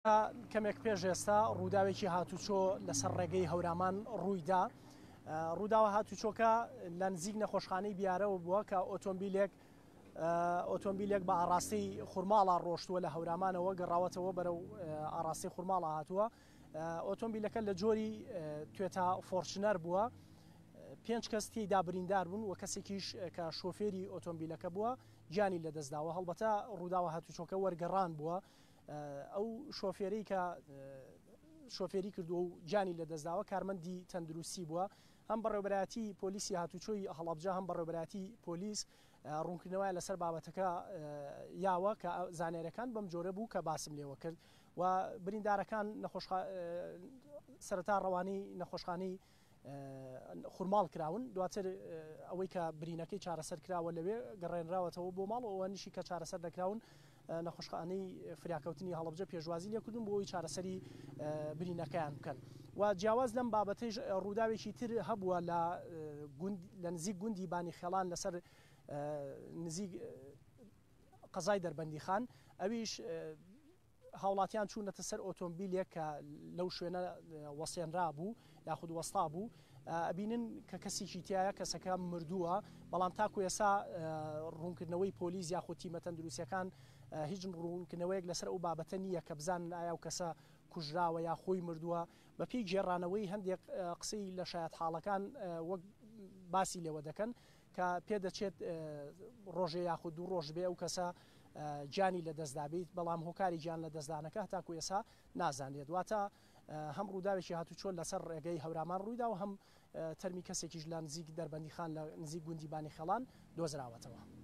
کەمێک پێش ئێستا ڕووداوێکی هاتوچۆ لەسەر ڕێگەی هەورامان ڕوویدا. ڕووداوە هاتوچۆکە لە نزیک نەخۆشخانەی بیارەوە بووە کە ئۆتۆمبیلێک ئۆتۆمبیلێک بە ئاڕاستەی خورماڵا ڕۆشتووە لە هەورامانەوە گەڕاوەتەوە بەرەو ئاڕاستەی خورماڵا هاتووە. ئۆتۆمبیلەکە لە جۆری توێتا فۆرچنەر بووە. پێنج کەس تێیدا بریندار بوون و کەسێکیش کە شۆفێری ئۆتۆمبیلەکە بووە گیانی لەدەستداوە. هەڵبەتە ڕووداوە هاتوچۆکە وەرگەڕان بووە. ئەو شۆفێرەی کە شۆفێری کردووە و گیانی لەدەستداوە کارمەندی تەندروستی بووە، هەم بەڕێوەبەرایەتی پۆلیسی هاتوچۆی هەڵەبجە هەم بەڕێوەبەرایەتی پۆلیس ڕوونکردنەوەیان لەسەر بابەتەکە یاوە کە زانیاریەکان بەم جۆرە بوو کە باسم لێوە کرد و بریندارەکان سەرەتا ڕەوانەی نەخۆشخانەی خورماڵ کراون، دواتر ئەوەی کە برینەکەی چارەسەر کراوە لەوێ گەڕێنراوەتەوە بۆ ماڵ و ئەوانیشی کە چارەسەر نەکراون نەخۆشخانەی فریاکەوتنی هەڵەبجە پێشوازی لێکردوون بۆ ئەوەی چارەسەری برینەکەیان بکەن و جیاواز لەم بابەتەیش ڕووداوێکی تر هەبووە لە گوند لە نزیک گوندی بانی خێڵان لەسەر نزیک قەزای دەربەندیخان ئەویش هاوڵاتیان چوونەتە سەر ئۆتۆمبیلێک کە لەو شوێنە وەسێنرابوو یاخود وەستابوو، ئەبینن کە کەسێکی تیایە، کەسەکە مردووە، بەڵام تاکو ئێستا ڕوونکردنەوەی پۆلیس یاخود تیمە تەندروستییەکان هیچ ڕوونکردنەوەیەک لەسەر ئەو بابەتە نییە کە بزانن ئایا ئەو کەسە کوژراوە یا خۆی مردووە، بەپێی گێڕانەوەی هەندێک قسەی لە شایەتحاڵەکان وەک باسی لێوە دەکەن کە پێدەچێت ڕۆژێ یاخود دوو ڕۆژ بێ ئەو کەسە گیانی لەدەستدابیت، بەڵام هۆکاری گیان لەدەستدانەکە هەتاکو ئێستا نازانرێت. واتە هەم ڕووداوێکی هاتوچۆ لەسەر ڕێگەی هەورامان ڕوویدا و هەم تەرمی کەسێکیش لە نزیک دەربەندیخان لە نزیک گوندی بانیخێڵان دۆزراوەتەوە.